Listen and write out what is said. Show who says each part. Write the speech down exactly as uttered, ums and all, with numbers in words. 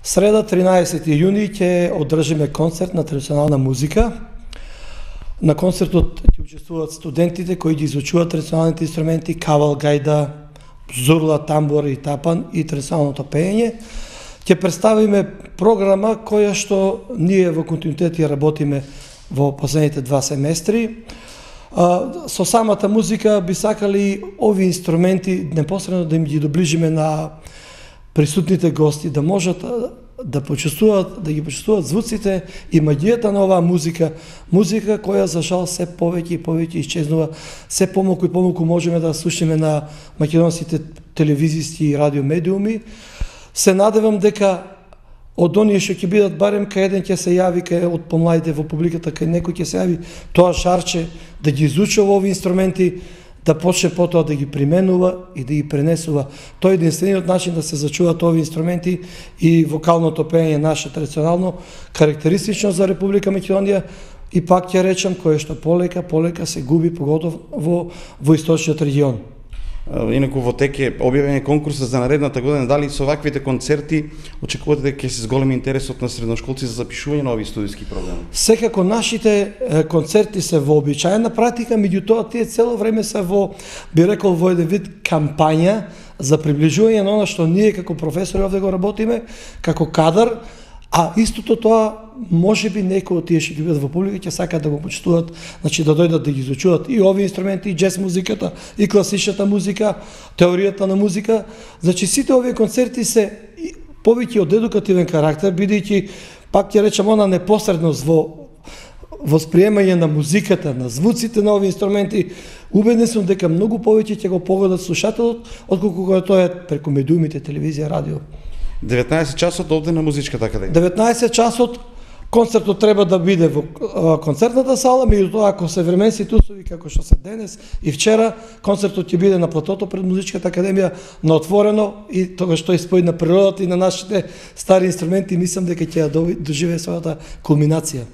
Speaker 1: Среда тринаесети јуни ќе одржиме концерт на традиционална музика. На концертот ќе учествуваат студентите кои ги изучуваат традиционалните инструменти кавал, гајда, зурла, тамбур и тапан и традиционалното пеење. Ќе представиме програма која што ние во континуитет ја работиме во последните два семестри. Со самата музика би сакали ови инструменти непосредно да им ги доближиме на присутните гости, да можат да почувствуваат, да ги почувствуваат звуците и магијата на оваа музика, музика која за жал се повеќе и повеќе исчезнува, се помалку и помалку можеме да слушаме на македонските телевизиски и радио медиуми. Се надевам дека од оние што ќе бидат барем кај еден ќе се јави кај од помладите во публиката, кај некој ќе се јави тоа шарче да ги изучува овие инструменти, да почне потоа да ги применува и да ги пренесува. Тоа е единствениот начин да се зачуваат овие инструменти и вокалното пеење наше традиционално, карактеристично за Република Македонија и пак ќе речам кое што полека, полека се губи, поготово во, во источниот регион.
Speaker 2: Инаку во тек е објавен конкурсот за наредната година, дали со ваквите концерти очекувате дека ќе се зголеми интересот на средношколци за запишување на овие студиски програми?
Speaker 1: Секако нашите концерти се вообичаена практика, меѓутоа тие цело време се во, би рекол, во еден вид кампања за приближување на она што ние како професори овде го работиме, како кадар, а истото тоа можеби некои од тие што ќе бидат во публика ќе сакаат да го почитуваат, значи да дојдат да ги изучуваат и овие инструменти, и џез музиката, и класичната музика, теоријата на музика. Значи сите овие концерти се повеќе од едукативен карактер, бидејќи пак ќе речам она непосредност во восприемање на музиката, на звуците на овие инструменти. Убеден сум дека многу повеќе ќе го погодат слушателот отколку кога тоа е преку медиумите, телевизија, радио.
Speaker 2: деветнаесет часот овде на Музичката академија.
Speaker 1: деветнаесет часот концертот треба да биде во концертната сала, меѓутоа ако се временски услови како што се денес и вчера, концертот ќе биде на платото пред Музичката академија на отворено и тоа што испои на природата и на нашите стари инструменти, мислам дека ќе ја доживее својата кулминација.